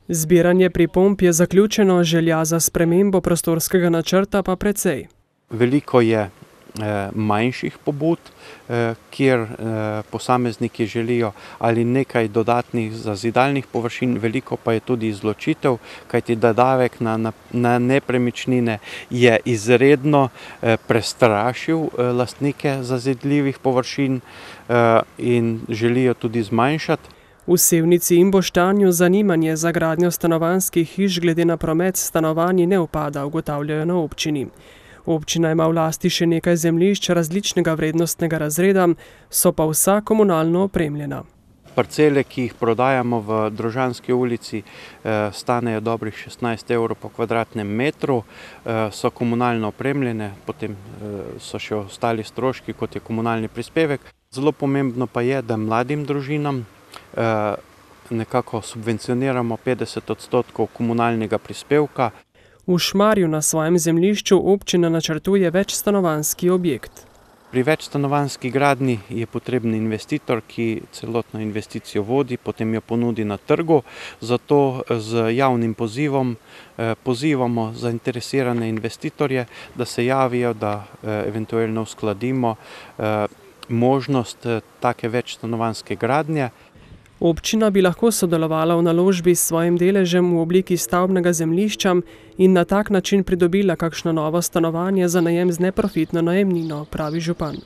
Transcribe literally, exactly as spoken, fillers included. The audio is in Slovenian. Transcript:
Zbiranje pripomb je zaključeno, želja za spremembo prostorskega načrta pa precej. Veliko je manjših pobud, kjer posamezniki želijo ali nekaj dodatnih zazidalnih površin, veliko pa je tudi izločitev, kajti davek na, na, na nepremičnine je izredno prestrašil lastnike zazidljivih površin in želijo tudi zmanjšati. V Sevnici in Boštanju zanimanje za gradnjo stanovanjskih hiš glede na promet s stanovanji ne upada, ugotavljajo na občini. Občina ima v lasti še nekaj zemljišč različnega vrednostnega razreda, so pa vsa komunalno opremljena. Parcele, ki jih prodajamo v Drožanski ulici, stanejo dobrih šestnajst evrov po kvadratnem metru, so komunalno opremljene, potem so še ostali stroški, kot je komunalni prispevek. Zelo pomembno pa je, da mladim družinam nekako subvencioniramo petdeset odstotkov komunalnega prispevka. V Šmarju na svojem zemljišču občina načrtuje večstanovanjski objekt. Pri večstanovanjski gradnji je potreben investitor, ki celotno investicijo vodi, potem jo ponudi na trgu. Zato z javnim pozivom pozivamo zainteresirane investitorje, da se javijo, da eventualno uskladimo možnost take večstanovanjske gradnje. Občina bi lahko sodelovala v naložbi s svojim deležem v obliki stavbnega zemljišča in na tak način pridobila kakšno novo stanovanje za najem z neprofitno najemnino, pravi župan.